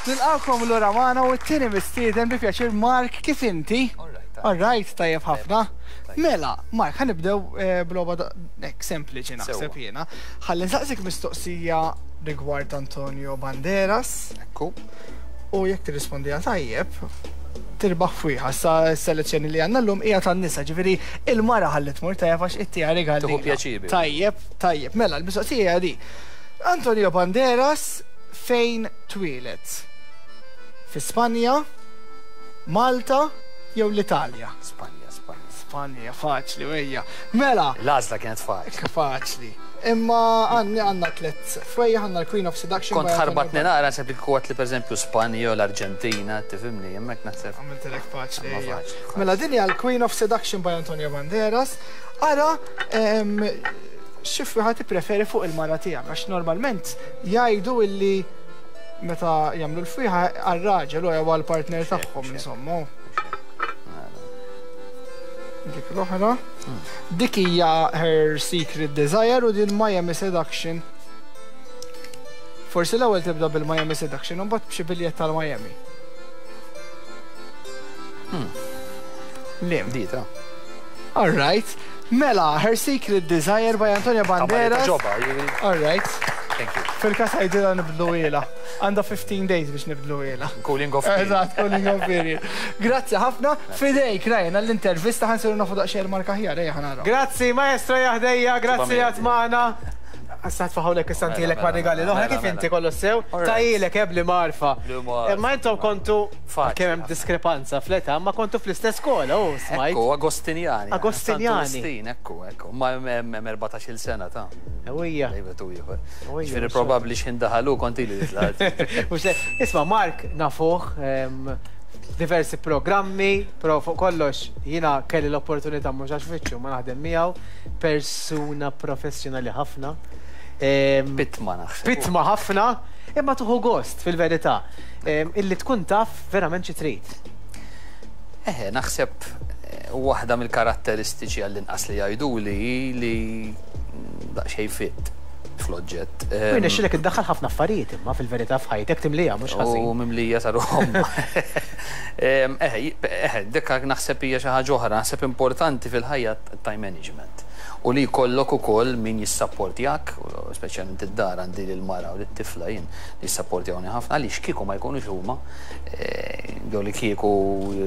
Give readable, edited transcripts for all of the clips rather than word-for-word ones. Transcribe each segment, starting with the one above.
Nilqgħukom lura magħna u t-tieni mistieden bi pjaċir Mark kif inti? All right, tajjeb ħafna. Mela, Mark, ħa nibdew eh, b'logħba hekk sempliċi naħseb jiena. Ħalli nsaqsik mistoqsija rigward Antonio Banderas. Ekku. U jekk tirrispondiha tajjeb, tirbaħ fwieħa. Sa s-selezzjoni li għandna llum hija tan-nisa, ġifieri il-mara ħalli tmur tajjeb għax ittiha rigal. Tieħu pjaċir. Tajjeb, tajjeb. Mela, l-mistoqsija hija di. Antonio Banderas fejn twieled? Fi Spanja, Malta jew l-Italja? Spanja, Spanja. Spanja, faċli, ejja. Mela. L-għażla kienet faċli. Faċli. Imma għanni għandna tlett fwejja għandna l-Queen of Seduction. Kont ħarbatni naqra naħseb li kieku għedtli pereżempju Spanja jew l-Arġentina, tifhimni, hemmhekk naħseb. Għamiltilek faċli. Ejja. Mela din hija l-Queen of Seduction by Antonio Banderas. Ara xi fwieħa tippreferi fuq il-mara tiegħek għax normalment jgħidu illi meta jagħmlu l-fwieħa għar-raġel u jew għall-partner tagħhom insomma. Dik l-oħra. Dik hija Her Secret Desire u din Miami Seduction. Forsi l-ewwel tibda bil-Miami Seduction u mbagħad b'xi biljett tal-Miami. Hmm. Lim. Dita. All right. Mela, Her Secret Desire by Antonio Banderas. All right. Thank you. Fil-kas għajdila nibdlu ila. Għanda 15 days biex nibdlu ila. Cooling off period. Eżatt, cooling off period. Grazzi ħafna. Fidejk, Ryan, għall-intervista ħa nsiru nafu daqsxejn il-marka aħjar, ejja ħa naraw. Grazzi, maestro jaħdejja, grazzi li għad magħna. Issa tfaħawlek issa ntilek ma' rigali l-oħra kif inti kollox sew. Tajilek eh bli marfa. Imma intom kontu kemm hemm diskrepanza fl-età, ma kontu fl-istess skola, u smajt. Ekku, Agostinjani. Agostinjani. Ekku, ekku. Ma hemm 14-il sena ta'. Ewwija. Bejn u ieħor. Ġifieri probabbli x'ħin daħal hu kont ili li tlaqt. Isma' Mark nafuh diversi programmi, però fuq kollox jiena kelli l-opportunità mhux għax fittxu ma naħdem miegħu, persuna professjonali ħafna. Pitma naħseb. Pitma ħafna, imma tuħu gost fil-verità. Illi tkun taf verament xi trid. Eħe, naħseb waħda mill-karatteristiċi għall-inqas li jgħiduli hi li daqsxejn fit fl-oġġett. U jirnexxilek iddaħħal ħafna affarijiet imma fil-verità f'ħajtek timliha mhux ħażin. U mimlija sa ruħ Eħe, eħe, dik naħseb hija xi ħaġa oħra, naħseb importanti fil-ħajja time management. U li jkollok ukoll min jissapportjak, speċjalment id-dar għandi lill-mara u lit-tifla jien li jissapportjawni ħafna għaliex kieku ma jkunux huma jew li kieku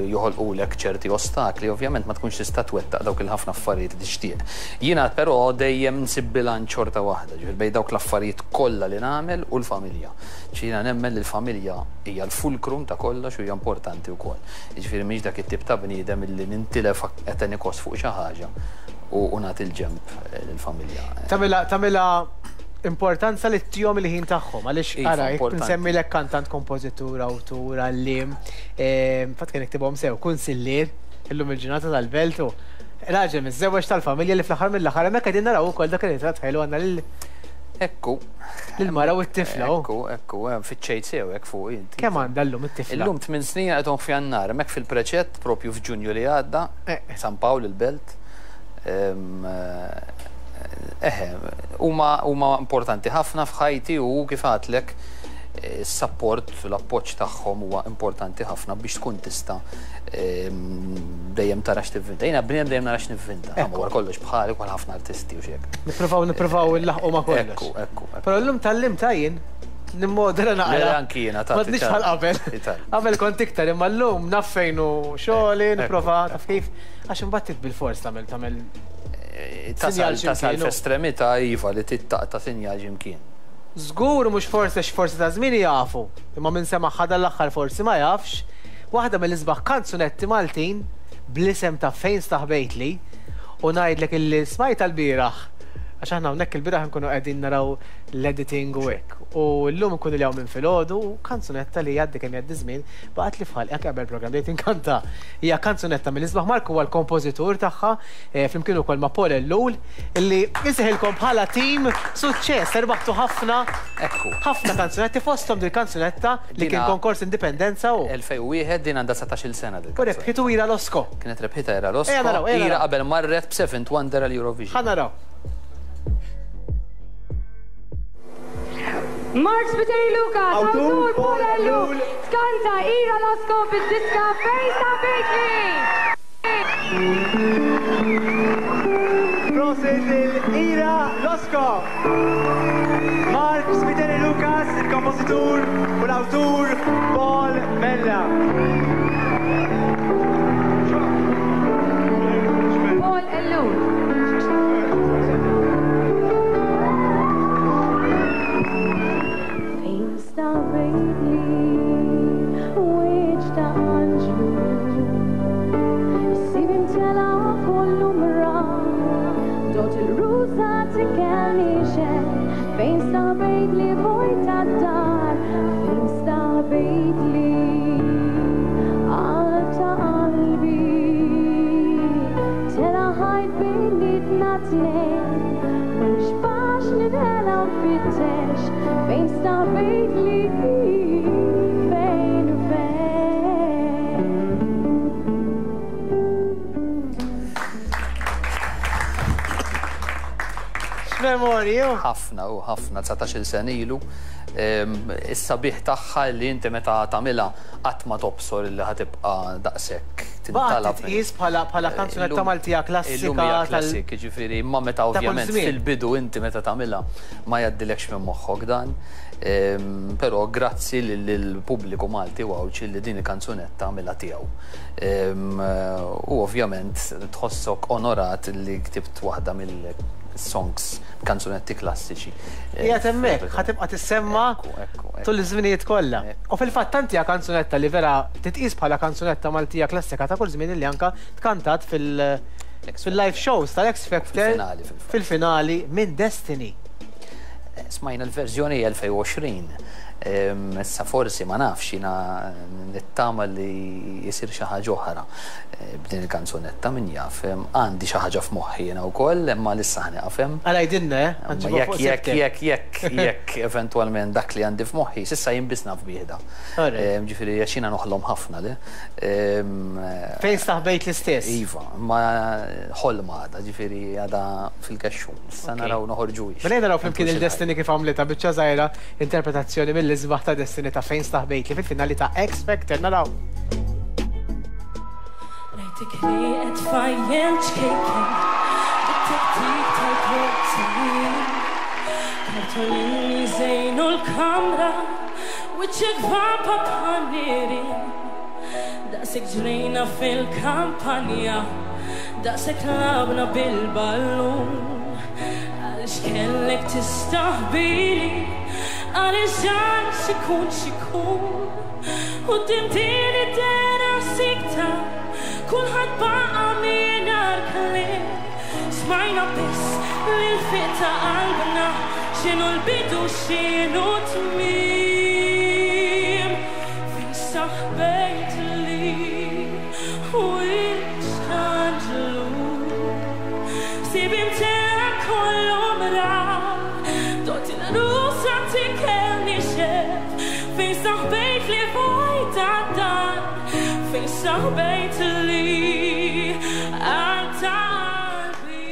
joħolqulek ċerti ostakli, ovvjament ma tkunx tista' twettaq dawk il-ħafna affarijiet li tixtieq. Jiena però dejjem nsib bilanċ xorta waħda, ġifieri bejn dawk l-affarijiet kollha li nagħmel u l-familja. Ġifieri jiena nemmen li l-familja hija l-fulcrum ta' kollox u hija importanti wkoll. Jiġifieri m'iniex dak it-tip ta' bniedem illi nintilef at any cost fuq xi ħaġa u nagħti l-ġenb lill-familja. Tagħmilha tagħmilha importanza li ttihom il-ħin tagħhom għaliex Iva, ara jekk importanti. nsemmilek kantant, kompożitur, awtur, għalliem, fatt kien iktibhom sew, kunsillier, illum il-ġurnata tal-belt u raġel miżżewweġ tal-familja li fl-aħħar mill-aħħar hemmhekk qegħdin naraw ukoll dak ir-ritratt ħelu għandna lil Ekku. Lill-mara u t-tifla u. Ekku, ekku, fittxejt sew hekk fuq inti. Kemm għandha llum it-tifla? Illum tminn snin għalqithom f'Jannar, hemmhekk fil-preċett propju f'Ġunju li għadda, San Pawl il-Belt. Eħe, huma huma importanti ħafna f'ħajti u kif għadtlek is-sapport u l-appoġġ tagħhom huwa importanti ħafna biex tkun tista' dejjem tara x'tivvinta. Jiena bniedem dejjem nara x'nivvinta. Imma wara kollox bħali bħal ħafna artisti u xi hekk. Nippruvaw nippruvaw nlaħħqu ma' kollox. Ekku, ekku. Però llum tgħallimtha jien nimmodera naqra. Le, anki jiena ta' M'għadniex bħal qabel. Qabel kont iktar imma llum naf fejn hu xogħli, nipprova taf kif. Għax imbagħad trid bilfors tagħmel tagħmel Tasal tasal f'estremità iva li trid taqta' sinjal xi mkien. Żgur mhux forsi għax forsi ta' żmieni jafu, imma min semagħha dan l-aħħar forsi ma jafx, waħda mill-isbaħ kanzunetti Maltin bl-isem ta' Fejn Staħbejtli u ngħidlek illi smajtha lbieraħ għax aħna hawnhekk ilbieraħ inkunu qegħdin naraw l-editing u hekk u llum inkun ili hawn minn filgħodu u kanzunetta li jgħaddi kemm jgħaddi żmien baqgħetli f'ħalqi anke qabel il-programm bdejt inkanta. Hija kanzunetta mill-isbaħ Mark huwa l-kompożitur tagħha flimkien ukoll ma' Paul Ellul illi insejħilkom bħala tim suċċess, erbaħtu ħafna Ekku. ħafna kanzunetti fosthom dil-kanzunetta li kien konkors Indipendenza u. 2001 din għandha 19-il sena dil-kanzunetta. U rebħitu Ira Losco. Kienet rebħitha Ira Losco. Ejja naraw, ejja naraw. Ira qabel marret b'Seventh Wonder għall-Eurovision. Ħa naraw. Mark Spiteri Lucas, awtur Paul Ellul, tkanta Ira Losco bid-diska Fejn Staħbejtli! Prosit lil Ira Losco! Mark Spiteri Lucas, il-kompożitur u l-awtur Paul Vella. Paul Ellul. Fejn staħbejtli wiċċ ta' anġlu Issib imtela kollu mrar Dot il-rusa tikel nixef Fejn staħbejtli vojta d-dar Fejn staħbejtli qalb ta' qalbi Tela' ħajt bejnietna tnejn Mhux faċli nħela nfittex Fejn staħbejtli fejn u fejn. X'memorji! Ħafna u ħafna, 19-il sena ilu. Is-sabiħ tagħha li inti meta tagħmilha qatt ma tobsor li ħa tibqa' daqshekk tintalab. Baqgħet titqies bħala bħala kanzunetta Maltija klassika. Illum hija classic, jiġifieri imma meta ovvjament fil-bidu inti meta tagħmilha ma jgħaddilekx minn moħħok dan. Però grazzi lill-pubbliku Malti u Għawdxi li din il-kanzunetta għamilha tiegħu. U ovvjament tħossok onorat li ktibt waħda mill-songs, kanzunetti klassiċi. Qiegħed hemmhekk, ħa tibqa' tissemma tul iż-żminijiet kollha. U fil-fatt tant hija kanzunetta li vera titqies bħala kanzunetta Maltija klassika ta' kull żmien illi anke tkantat fil-live shows tal-X Factor fil-finali minn Destiny. Smajna l-verżjoni 2020. Issa forsi ma nafx jiena nittama li jsir xi ħaġa oħra b'din il-kanzunetta min jaf. Għandi xi ħaġa f'moħħi jiena wkoll imma issa ħa nieqaf hemm. Għala għidilna, eh? Ħa nġibuha fuq Jekk jekk jekk jekk eventwalment dak li għandi f'moħħi, s'issa jien biss naf bih da. Ġifieri għax jiena noħlom ħafna le. Fejn staħbejt l-istess? Iva, imma ħolma għadha, ġifieri għadha fil-kexxun. Issa naraw noħorġuhiex. Mela ejja naraw flimkien lil Destiny kif għamlitha, biċċa żgħira interpretazzjoni mill-isbaħ ta' Destiny ta' Fejn Staħbejtli fil-finali ta' X Factor. Naraw! Rajtek rieqed tfajjel ċkejken bit-tiktik tal-portier. Kartolini jżejnu l-kamra, wiċċek vampa bħal nirien. Daqshekk ġrejna fil-kampanja. Daqshekk lagħabna bil-ballun. Għaliex kellek tistaħbili? Għaliex dan x'ikun x'ikun? Quddiem din id-dehra sikta, kulħadd baqa' mingħajr kliem. Smajna biss l-ilfiq ta' qalbna, x'inhu l-bidu x'inhu t-tmiem. Fejn staħbejtli? Wiċċ t'anġlu Ħsiebi mtela kollu mrar Dott il-għarusa tikel nixef Fejn saħbejt li vojta d-dar Fejn saħbejt li għal ta' qalbi.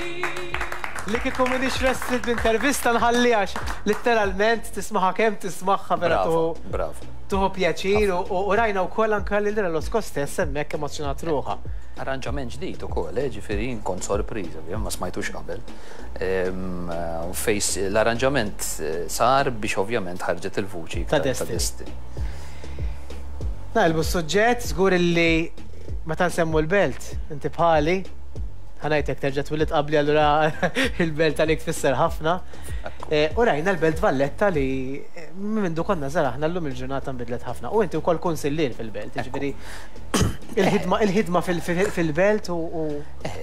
Li kieku m'iniex restritt b'intervista nħalliha għax litteralment tismaha kemm tismagħha vera Bravo, bravo. Tieħu pjaċir u rajna wkoll anke lil Relosco stess hemmhekk emozzjonat ruħha. Arranġament ġdid ukoll, eh, ġifieri jien kont sorpriż, ovvjament ma smajtux qabel. U fejn l-arranġament sar biex ovvjament ħarġet il-vuċi ta' Destiny. Naqilbu s-suġġett, żgur illi meta nsemmu l-belt, inti bħali, ħa ngħidlek terġa' twilidt qabli allura il-belt għalik tfisser ħafna. U rajna l-Belt Valletta li minn mindu konna żgħar aħna llum il-ġurnata nbidlet ħafna. U inti wkoll kunsillier fil-belt, jiġifieri il-ħidma il-ħidma fil-belt u.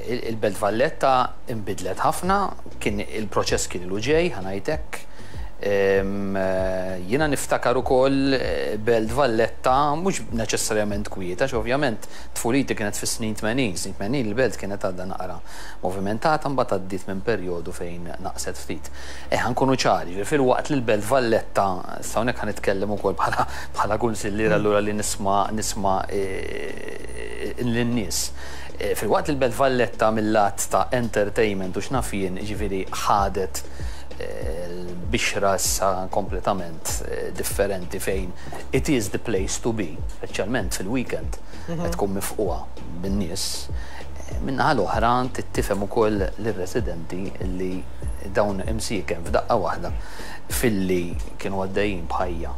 Il-Belt Valletta nbidlet ħafna, kien il-proċess kien ilu ġej, ħa ngħid hekk. Jiena niftakar ukoll Belt Valletta mhux neċessarjament kwieta, għax ovvjament tfuliti kienet fis-snin 80, snin 80 il-belt kienet għadha naqra movimentata mbagħad għaddiet minn perjodu fejn naqset ftit. Eh, ħa nkunu ċari, jiġifieri filwaqt li l-Belt Valletta, issa hawnhekk ħa nitkellem ukoll bħala bħala kunsillier allura li nisma' nisma' lin-nies. Filwaqt li l-Belt Valletta mil-lat ta' entertainment u x'naf jien, jiġifieri ħadet bixra issa kompletament differenti fejn it is the place to be, speċjalment fil-weekend qed tkun mifqugħa bin-nies. Min-naħa l-oħra trid tifhem ukoll lir-residenti li dawn imsieken f'daqqa waħda filli kienu għaddejjin b'ħajja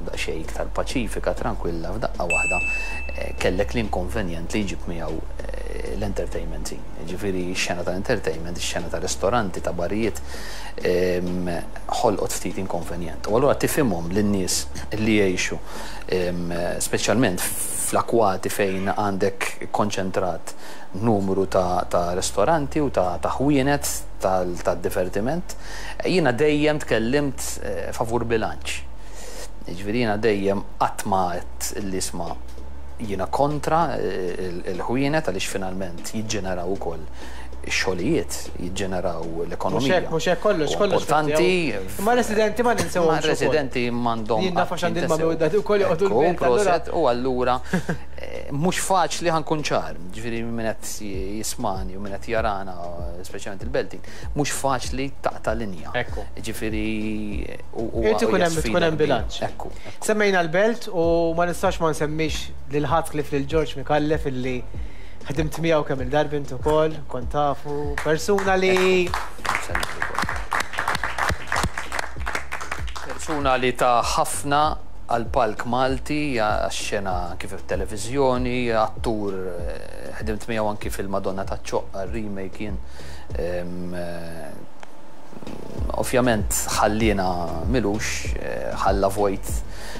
daqsxejn iktar paċifika, trankwilla, f'daqqa waħda kellek l-inkonvenjent li jġib miegħu l-entertainment scene. Jiġifieri x-xena tal-entertainment, ix-xena ta' ristoranti, ta' barijiet, ħolqot ftit inkonvenjent. U allura tifhimhom lin-nies li jgħixu speċjalment fl-akkwati fejn għandek ikkonċentrat numru ta' ristoranti u ta' ħwienet tad-divertiment. Jiena dejjem tkellimt favur bilanċ. Jiġifieri jiena dejjem qatt ma għedt li isma' jiena kontra l-ħwienet għaliex finalment jiġġeneraw ukoll ix-xogħlijiet, jiġġeneraw l-ekonomija. Mhux hekk, kollox, kollox. Importanti. Imma r-residenti ma ninsewhomx. Ma r-residenti m'għandhom. Jien naf għax għandi l-mami u d-dadi wkoll joqogħdu l-belt. Proset, u allura mhux faċli ħa nkun ċar, ġifieri min qed jismagħni u min qed jarana, speċjalment il-Beltin, mhux faċli taqta' linja. Ekku. Ġifieri u Irid ikun hemm tkun hemm bilanċ. Ekku. Semmejna l-Belt u ma nistax ma nsemmix lil ħadd ħlief lil George Micallef illi ħdimt miegħu kemm il-darba int ukoll, kont tafu, persuna li Persuna li ta ħafna għall-palk Malti, għax-xena anki fit-televiżjoni, attur ħdimt miegħu anki fil-Madonna taċ-Ċoqqa, r-remake jien. Ovvjament ħalliena m'ilux, ħalla vojt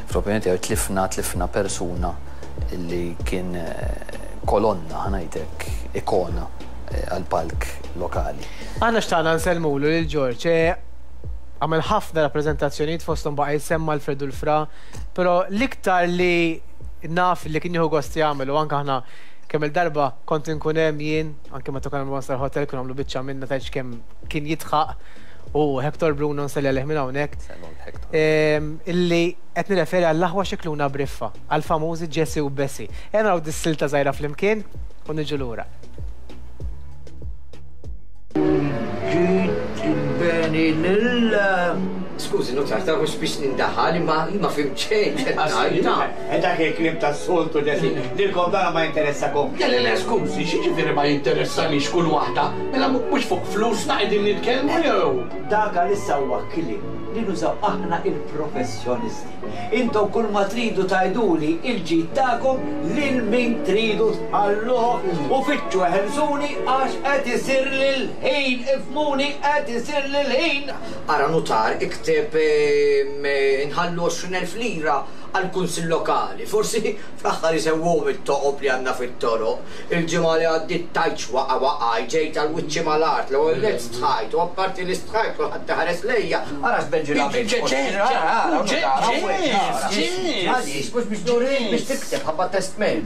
fl-opinjoni tiegħi tlifna tlifna persuna li kien kolonna ħa ngħid hekk, ikona għall-palk lokali. Aħna xtaqna nsellmulu lil George. Għamel ħafna rappreżentazzjonijiet fosthom baqa' jissemma Alfred u l-Fra, però l-iktar li naf li kien jieħu gost jagħmel u anke aħna kemm-il darba kont inkun hemm jien, anke meta konna nagħmlu One Star Hotel konna nagħmlu biċċa minna tgħidx kemm kien jidħaq u Hector Bruno nselli għalih minn hawnhekk. Illi qed nirreferi għall-aħwa Scicluna Briffa, għall-famużi Jessie u Bessie. Ejja naraw dis-silta żgħira flimkien u niġu lura. Ġid il-beni lil. Skużi, nutar, ta' mhux biex nindaħal, imma ma fimt xejn x'qed tgħid. Dak il-kliem tas-soltu, Ġesì. Lilkom dana ma jinteressakomx. Le, le, le, skużi, x'jiġifieri ma jinteressanix kull waħda? Mela mhux fuq flusna qegħdin nitkellmu jew? Dak għalissa huwa kliem li nużaw aħna il-professjonisti. Intom kull ma tridu tgħiduli il-ġid tagħkom lil min tridu tħalluh u fittxu eħelsuni għax qed isirli l-ħin, ifhmuni qed isirli l-ħin. Ara nutar ikteb inħallu 20,000 lira għall-Kunsill Lokali. Forsi fl-aħħar isewwuhom it-toqob li għandna fit-toroq. Il-ġimgħa li għaddiet tgħidx waqa' waqaj, ġejt għal wiċċi mal-art, l-ewwel nett stħajt u apparti li stħajt kulħadd iħares lejja, ara x'benġil għamilt. Għaliex, mhux biex nurik biex tikteb ħabba testment.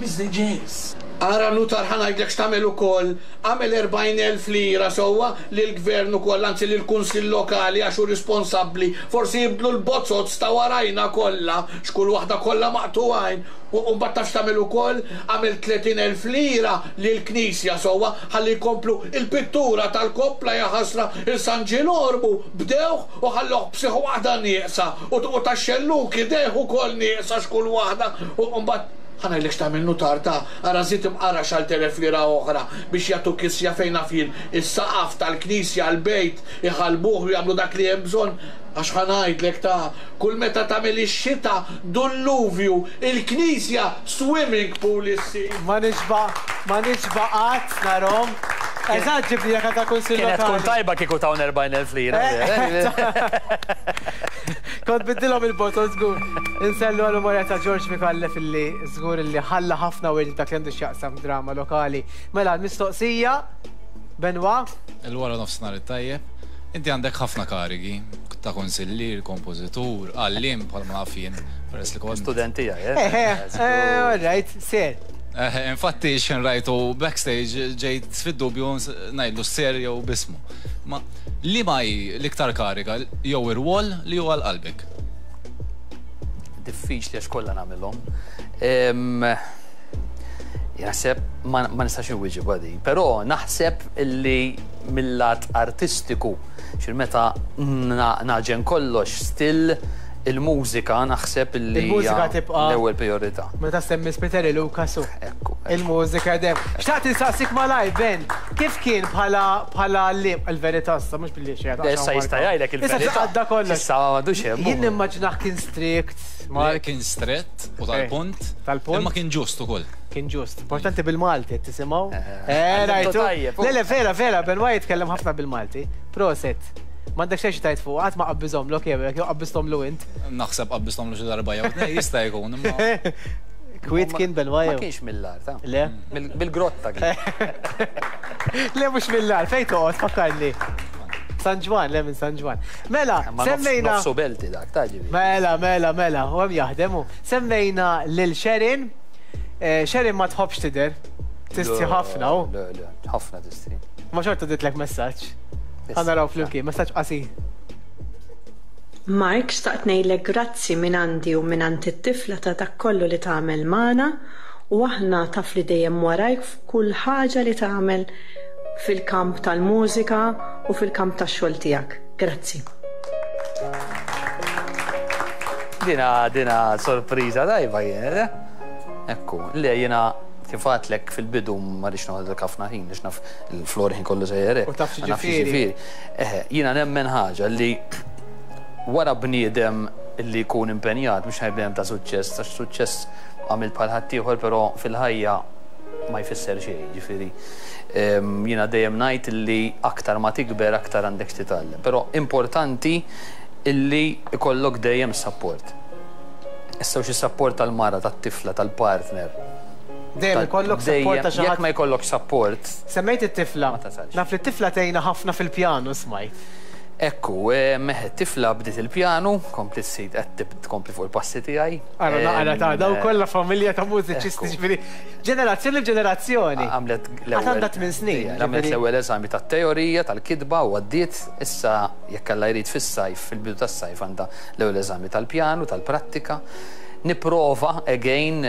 Ara nutar ħa ngħidlek x'tagħmel ukoll, agħmel 40,000 lira sewwa lill-Gvern ukoll, anzi lill-Kunsill Lokali għax hu risponsabbli, forsi jibdlu l-bozoz ta' warajna kollha, x'kull waħda kollha maqtugħin. U mbagħad taf x'tagħmel ukoll? Agħmel 30,000 lira lill-Knisja sewwa ħalli jkomplu l-pittura tal-koppla jaħasra il San Ġilormu bdewh u ħallewh b'sieħ waħda nieqsa u tax-xellug idejh ukoll nieqsa x'kull waħda u mbagħad ħa ngħidlek x'tagħmel nutar ta' ara żid imqara x'għal 'elf lira oħra biex jagħtu kisja fejn naf jien is-saqaf tal-knisja l-bejt iħallbuh u jagħmlu dak li hemm bżonn Għax ħa ngħidlek ta' kull meta tagħmel ix-xita dulluvju, il-knisja swimming pool issir. Ma nixba' ma nixba' qatt narhom. Eżatt ġibni jekk għandha kunsill Kienet tkun lokali. tajba kieku tawna 40,000 lira. Kont biddilhom il-botol żgur. Insellu għall-memorja ta' George Micallef illi żgur illi ħalla ħafna wirt dak li għandu x'jaqsam drama lokali. Mela l-mistoqsija, Benoit? Il-wara nofsinhar it-tajjeb. Inti għandek ħafna karigi, ta' kunsillier, kompożitur, għalliem bħalma naf jien, peress li kont. Student tiegħi, eh? Eħe, all right, ser. Eħe, infatti x'ħin rajtu backstage ġejt fid-dubju ngħidlu ser jew b'ismu. Ma liema hi l-iktar kariga jew irwol li hu għal qalbek? Diffiċli għax kollha nagħmilhom. Naħseb ma nistax inwieġibha din, però naħseb illi mill-lat artistiku, xir meta naġen kollox still il-mużika naħseb illi Il-mużika tibqa' l-ewwel priorità. Meta semmi Spiteri Lucas u Ekku. Il-mużika dem. Xtaqt insaqsik malaj, Ben, kif kien bħala bħala għalliem il-verità issa mhux billi xi Issa jista' jgħidlek il-verità. Issa għadda kollox. Issa m'għadux hemm. Jien nimmaġinah kien strict. Mark kien strett u tal-punt. Tal-punt. Imma kien ġust ukoll. Kien ġust. Importanti bil-Malti qed tisimgħu. Eh, rajtu. Le, le, vera, vera, Ben Wyatt jitkellem ħafna bil-Malti. Proset. M'għandek xejn xi tgħid fuq, qatt ma qabbiżhomlok jew hekk, jew qabbiżthomlu int. Naħseb qabbiżthomlu xi darba jew tnejn, jista' jkun, imma. Kwiet kien Ben Wyatt. Ma kienx mill-agħar, ta. Le? Mill-grotta kien. Le mhux mill-agħar, fejn toqgħod fakkarni. San Ġwann, le minn San Ġwann. Mela, semmejna. Nofsu belti dak, ta' ġifieri. Mela, mela, mela, u hemm jaħdem hu. Semmejna lil Sharon. Eh, Sharon ma tħobbx tidher. Tistħi ħafna u. Le, le, ħafna tistħi. Ma xorta ditlek messaġġ. Ħa naraw flimkien, messaġġ qasir. Mark xtaqt ngħidlek grazzi mingħandi u mingħand it-tifla ta' dak kollu li tagħmel magħna u aħna taf li dejjem warajk f'kull ħaġa li tagħmel fil-kamp tal-mużika u fil-kamp tax-xogħol tiegħek. Grazzi. Dina dina sorpriża tajba kienet, eh? Ekku, le jiena kif għadtlek fil-bidu ma rridx noħodlek ħafna ħin għax naf il-flor ħin kollu sejjer hekk. U taf x'jiġifieri. Eħe, jiena nemmen ħaġa li wara bniedem li jkun impenjat, mhux ngħid bniedem ta' suċċess, għax suċċess għamilt bħal ħaddieħor però fil-ħajja ma jfisser xejn, jiġifieri jiena dejjem ngħid li aktar ma tikber aktar għandek x'titgħallem. Però importanti illi jkollok dejjem sapport. Issa hux is-sapport tal-mara, tat-tifla, tal-partner. Dejjem ikollok sapport ta' xi ħadd. Jekk ma jkollokx sapport. Semmejt it-tifla. Naf li t-tifla tgħinha ħafna fil-pjanu smajt. Ekku, meħ it-tifla bdiet il-pjanu, kompliet ssir qed tkompli fuq il-passi tiegħi. Ara naqra ta' dawn kollha familja ta' mużiċisti ġifieri ġenerazzjoni b'ġenerazzjoni. Għamlet l-ewwel. Għad għandha tmien snin. Għamlet l-ewwel eżami tat-teorija tal-kitba u għaddiet, issa jekk Alla jrid fis-sajf, fil-bidu tas-sajf għandha l-ewwel eżami tal-pjanu, tal-prattika. Nipprova, again,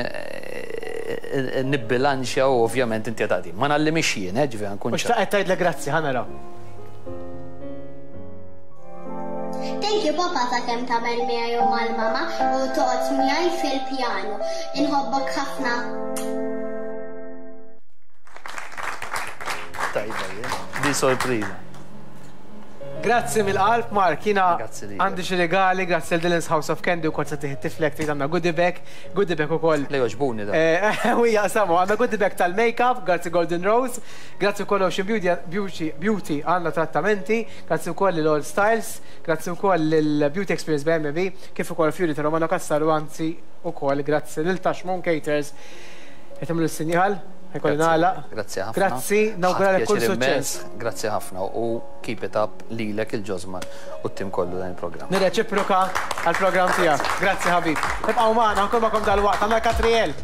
nibbilanċja u ovvjament inti qed tgħaddi. Ma ngħallimhiex jien, eh, ġifieri ħa nkun ċar. U xtaqet tgħidlek grazzi, ħa naraw. Thank you papa ta' kemm tagħmel miegħi u mal-mama u toqgħod miegħi fil-pjanu. Inħobbok ħafna. Tajba, di sorpriża. Grazzi mill-qalb Mark, jiena għandi xi rigali, grazzi lil Dylan's House of Candy wkoll se tieħ tiflek trid għandna goodie bag, goodie bag ukoll. Le jogħġbuni da. Eh, u jaqsamu, għandna goodie bag tal-makeup, grazzi Golden Rose, grazzi wkoll Ocean Beauty, Beauty, Beauty għandna trattamenti, grazzi wkoll lil All Styles, grazzi wkoll lil Beauty Experience by MB, kif ukoll Fury ta' Romano Cassar u anzi wkoll grazzi lil Tashmoon Caters. Qed tagħmlu s-sinjal? Ħajkolli nagħlaq. Grazzi ħafna. Grazzi, nawguralek kull suċċess. Grazzi ħafna u keep it up lilek il-Ġosmar u t-tim kollu dan il-programm. Nirreċiproka għall-programm tiegħek. Grazzi ħabib. Ibqgħu magħna, nkun magħkom dalwaqt. Għandna Katriel.